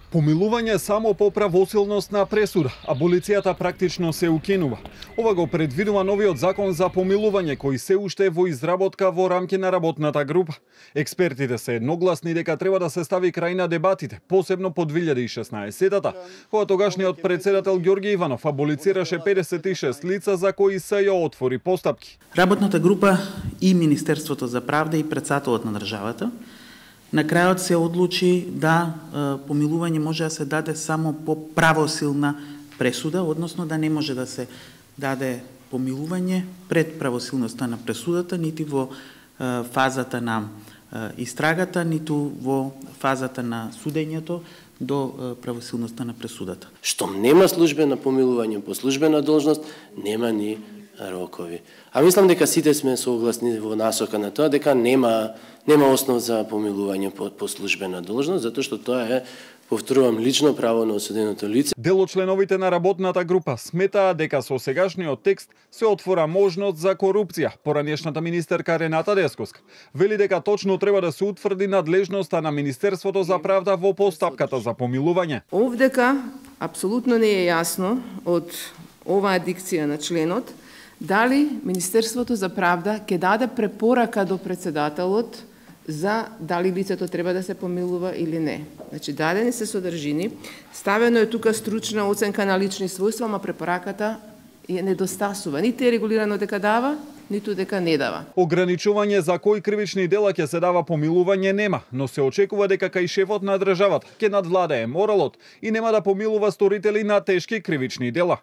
Помилување само по правосилност на пресуда, аболицијата практично се укинува. Ова го предвидува новиот закон за помилување кој се уште е во изработка во рамки на работната група. Експертите се едногласни дека треба да се стави крај на дебатите, посебно по 2016-та, кога тогашниот председател Ѓорги Иванов аболицираше 56 лица за кои се ја отвори постапки. Работната група и Министерството за правда и председателот на државата на крајот се одлучи да помилување може да се даде само по правосилна пресуда, односно да не може да се даде помилување пред правосилноста на пресудата, нити во фазата на истрагата, ниту во фазата на судењето до правосилноста на пресудата. Штом нема службено помилување по службена должност, нема ни рокови. А мислам дека сите сме согласни во насока на тоа дека нема основ за помилување по службена должност, затоа што тоа е, повторувам, лично право на осуденото лице. Дел од членовите на работната група сметаа дека со сегашниот текст се отвора можност за корупција. Поранешната министерка Рената Десковска вели дека точно треба да се утврди надлежноста на Министерството за правда во постапката за помилување. Овдека апсолутно не е јасно од оваа дикција на членот дали Министерството за правда ќе даде препорака до председателот за дали лицето треба да се помилува или не. Значи, дадени се содржини, ставено е тука стручна оценка на лични својства, ама препораката е недостасува. Нити е регулирано дека дава, ниту дека не дава. Ограничување за кои кривични дела ќе се дава помилување нема, но се очекува дека кај шефот на државата ќе надвладее моралот и нема да помилува сторители на тешки кривични дела.